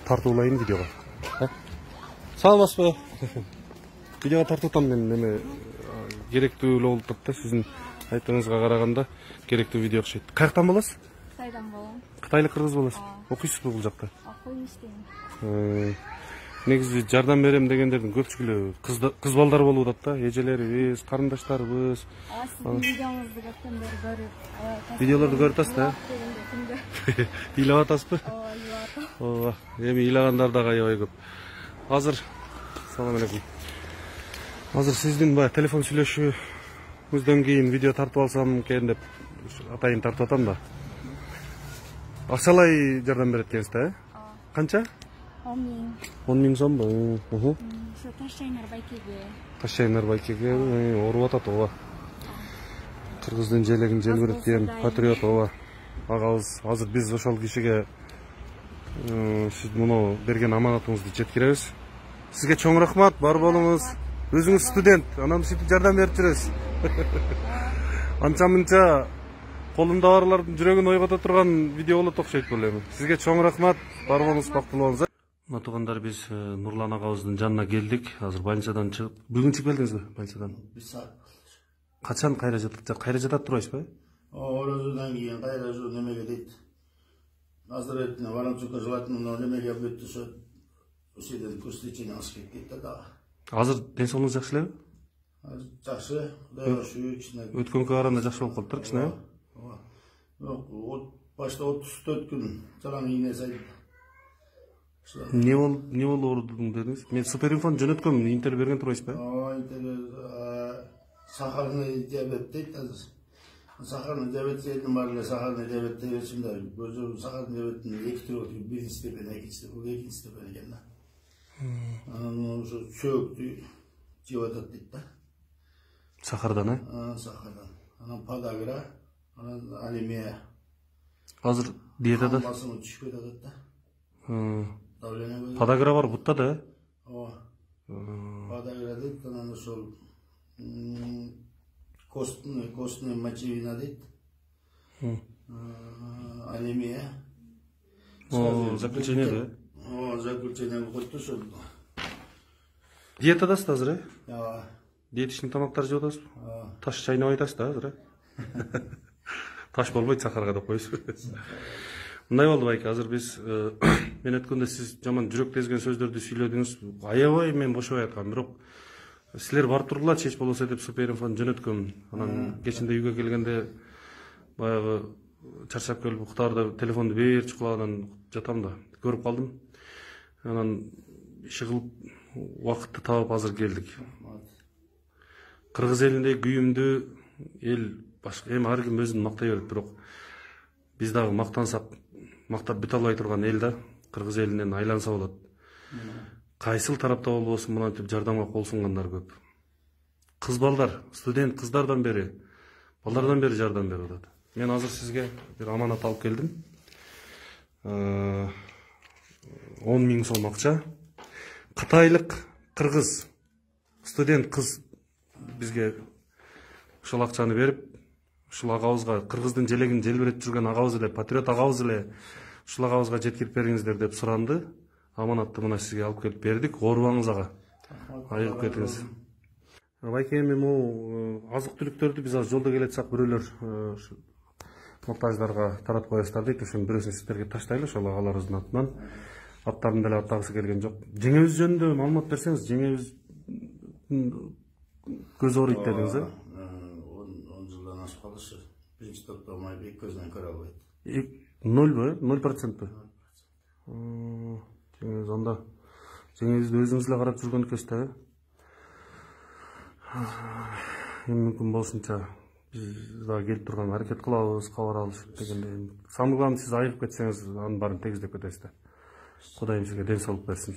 тартуулайын видеого. Саламатсызбы? Видеого тартып мен неме керектүү болуп турат да, сиздин айтыңызга караганда керектүү видео окшойт. Каяктан болосуз? Кытайдан болом. Кытайлык кыргыз болосуз. Окуйсузбу бул жакта? Окуйм, иштейм. Негизи жардам берем дегендердин көпчүлүгү кыз балдар болуп атат да, эжелерибиз, карындаштарыбыз. Сиздин видеоңузду көптөн бери көрүп, Видеолорду көрүп атасыз да? Ыйлап атасызбы? Ооба, эми ыйлагандар дагы аябай көп. Азыр, салам алейкум. Азыр сиздин баягы телефон сүйлөшүүбүздөн кийин видео тартып алсам экен деп атайын тартып атам да. Акчалай жардам берет экенсиз да, Канча? 10 миң. 10 миң сомбу? Ошо Ташчайнар байкеге. Ташчайнар байкеге ооруп атат, ооба. Кыргыздын желегин желбиреткен патриот, ооба. Агабыз, азыр биз ошол кишиге сиз муну берген аманатыңызды жеткиребиз. Сизге чоң рахмат, бар болуңуз. Өзүңүз студент, анан сиздин жардам берип жүрөсүз. Анча-мынча колунда барлардын жүрөгүн ойгото турган видео болот окшойт бул эми. Сизге чоң рахмат, бар болуңуз, бактылуу болуңуз. Туугандар, биз Нурлан агабыздын жанына келдик. Азыр больницадан чыгып, бүгүн чыгып келдиңизби больницадан? 1 саат. Качан кайра жатат турбайсызбы? Оразадан кийин кайра ушу немеге дейт. Наздоровательно Воронцовка желательно немеге бүттү, ошо ушеден курс лечения алыш керек да. Азыр ден-соолугуңуз жакшы элеби? Жакшы, Кудайга шүгүр, кичине. Өткөнгө караганда жакшы болуп калыптыр, кичине. Башта 34 күн жалаң ийне сайып. Не болуп оорудуң дедиңиз? Мен суперинфон жөнөткөм, интервью берген турбайсызбы? Интервью сахарный диабет дейт азыр. Сахарный диабет дедим, бар эле сахарный диабет дебесим да, өзү сахарный диабеттин 2 түрү, биринчи степень, экинчи степень экен да. Анан ошо чөөктү жеп атат дейт да. Сахардан, Сахардан. Анан подагра, анан анемия. Азыр диетада басымы түшүп кетет да. Подагра бар бутта да? Ооба. Подагра дейт, анан ошол костный мочевина дейт. Анемия. Заключение да? Заключение койту ошол. Диетадасыз азыр, Ооба. Диетичный тамактар жеп атасыз? Таш чайнабай атасыз да азыр, Таш болбойт сахарга деп коесуз. Мындай болду байке, азыр биз мен өткөндө сиз жаман жүрөк тезген сөздөрдү сүйлөдүңүз. Аябай мен бошобой аткам, бирок силер барып тургула, чеч болбосо деп суперинфон жөнөткөм. Анан кечинде үйгө келгенде баягы чарчап келип уктаарда телефонду берчи кулагынан жатам да, көрүп калдым. Анан иши кылып убакытты таап азыр келдик. Кыргыз элинде күйүмдүү эл башка эми ар ким өзүн мактай берет, бирок биз дагы мактансак, мактап бүтө албай турган эл да, кыргыз элинен айланса болот. Кайсыл тарапта болбосун мынантип жардамга кол сунгандар көп. Кыз балдар, студент кыздардан бери, балдардан бери жардам берип атат. Мен азыр сизге бир аманат алып келдим. 10 миң сом акча. Кытайлык кыргыз студент кыз бизге ушул акчаны берип, ушул агабызга, кыргыздын желегин желбиретип жүргөн агабыз эле, патриот агабыз эле ушул агабызга жеткирип бериңиздер деп суранды. Аманатты мына сизге алып келип бердик. Оорубаңыз ага. Айыгып кетиңиз. Байке, эми могу азык-түлүктөрдү биз азыр жолдо келатсак, бирөөлөр муктаждарга таратып коесуздар дейт. Ошонун бирөөсүн сиздерге таштайлы, ошол агаларыбыздын атынан. Аттарын деле аттагысы келген жок. Жеңебиз жөнүндө маалымат берсеңиз, жеңебиз көз ооруйт дедиңиз, 10 жылдан ашып калышы. Биринчи топто май бек көзүнөн көрө албайт. 0 0%? Жеңебиз анда. Жеңебизди өзүңүз эле карап жүргөн экенсиз да. Эми мүмкүн болушунча биз дагы келип турган аракет кылабыз, кабар алышып дегенде. Самый главный сиз айыгып кетсеңиз, анын баарын тегиздеп кетесиз да. Кудайым сизге ден соолук берсин.